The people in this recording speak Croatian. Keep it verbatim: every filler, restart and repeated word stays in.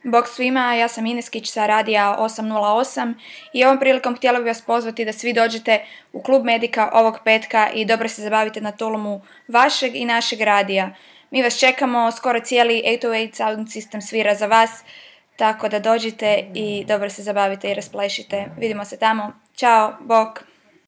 Bok svima, ja sam Ineskić sa Radija osam nula osam i ovom prilikom htjela bih vas pozvati da svi dođete u Klub Medika ovog petka i dobro se zabavite na tulumu vašeg i našeg radija. Mi vas čekamo, skoro cijeli osam nula osam Sound System svira za vas, tako da dođite i dobro se zabavite i rasplešite. Vidimo se tamo. Ćao, bok!